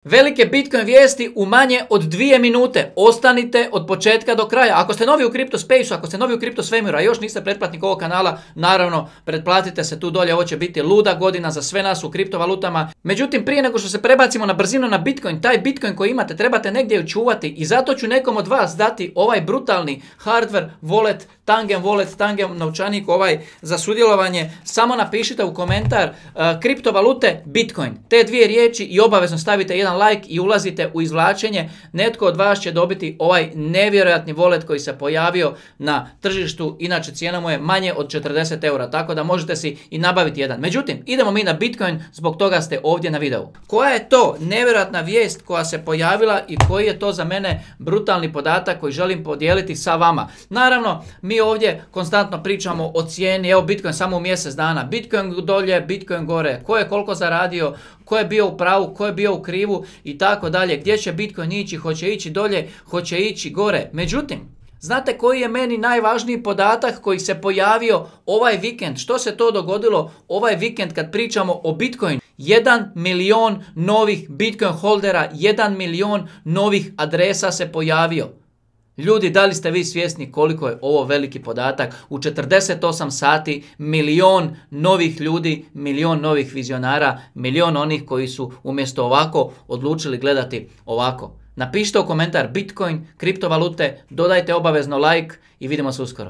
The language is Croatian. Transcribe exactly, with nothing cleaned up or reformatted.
Velike Bitcoin vijesti u manje od dvije minute. Ostanite od početka do kraja. Ako ste novi u Crypto Space, ako ste novi u Crypto Svemiru, a još niste pretplatnik ovog kanala, naravno, pretplatite se tu dolje. Ovo će biti luda godina za sve nas u kriptovalutama. Međutim, prije nego što se prebacimo na brzinu na Bitcoin, taj Bitcoin koji imate trebate negdje čuvati i zato ću nekom od vas dati ovaj brutalni hardware wallet, Tangem wallet, Tangem novčanik ovaj za sudjelovanje. Samo napišite u komentar uh, kriptovalute Bitcoin. Te dvije riječi i obavezno stavite jedan like i ulazite u izvlačenje. Netko od vas će dobiti ovaj nevjerojatni wallet koji se pojavio na tržištu. Inače cijena mu je manje od četrdeset eura, tako da možete si i nabaviti jedan. Međutim, idemo mi na Bitcoin, zbog toga ste ovdje na videu. Koja je to nevjerojatna vijest koja se pojavila i koji je to za mene brutalni podatak koji želim podijeliti sa vama? Naravno, mi ovdje konstantno pričamo o cijeni. Evo Bitcoin samo u mjesec dana. Bitcoin dolje, Bitcoin gore. Ko je koliko zaradio, ko je bio u pravu, ko je bio u krivu i tako dalje. Gdje će Bitcoin ići, hoće ići dolje, hoće ići gore. Međutim, znate koji je meni najvažniji podatak koji se pojavio ovaj vikend? Što se to dogodilo ovaj vikend kad pričamo o Bitcoin? Jedan milion novih Bitcoin holdera, jedan milion novih adresa se pojavio. Ljudi, da li ste vi svjesni koliko je ovo veliki podatak? U četrdeset osam sati milion novih ljudi, milion novih vizionara, milion onih koji su umjesto ovako odlučili gledati ovako. Napišite u komentar Bitcoin, kriptovalute, dodajte obavezno like i vidimo se uskoro.